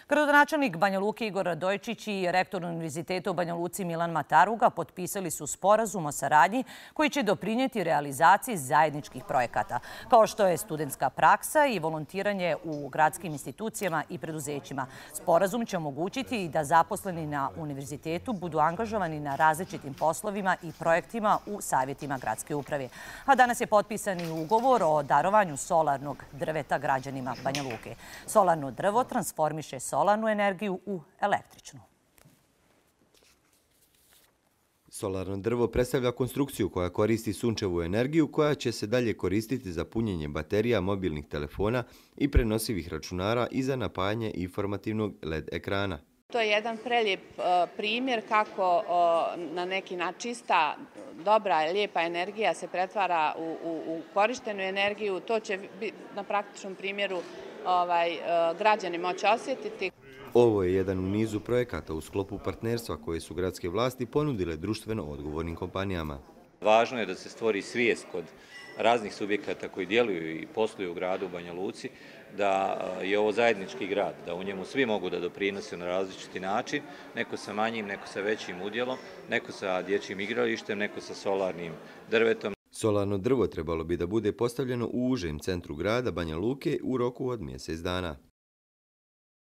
Gradonačelnik Banja Luke Igor Radojičić i rektor Univerziteta u Banja Luci Milan Mataruga potpisali su sporazum o saradnji koji će doprinijeti realizaciji zajedničkih projekata, kao što je studentska praksa i volontiranje u gradskim institucijama i preduzećima. Sporazum će omogućiti da zaposleni na univerzitetu budu angažovani na različitim poslovima i projektima u savjetima gradske uprave. A danas je potpisan i ugovor o darovanju solarnog drveta građanima Banja Luke. Solarno drvo transformiše solarnu energiju u električnu. Solarno drvo predstavlja konstrukciju koja koristi sunčevu energiju koja će se dalje koristiti za punjenje baterija mobilnih telefona i prenosivih računara i za napajanje informativnog LED ekrana. To je jedan prelijep primjer kako na neki način čista, dobra i lijepa energija se pretvara u korištenu energiju. To će na praktičnom primjeru građani moći osjetiti. Ovo je jedan u nizu projekata u sklopu partnerstva koje su gradske vlasti ponudile društveno odgovornim kompanijama. Važno je da se stvori svijest kod raznih subjekata koji djeluju i posluju u gradu Banja Luci, da je ovo zajednički grad, da u njemu svi mogu da doprinose na različiti način, neko sa manjim, neko sa većim udjelom, neko sa dječjim igralištem, neko sa solarnim drvetom. Solarno drvo trebalo bi da bude postavljeno u užem centru grada Banja Luke u roku od mjesec dana.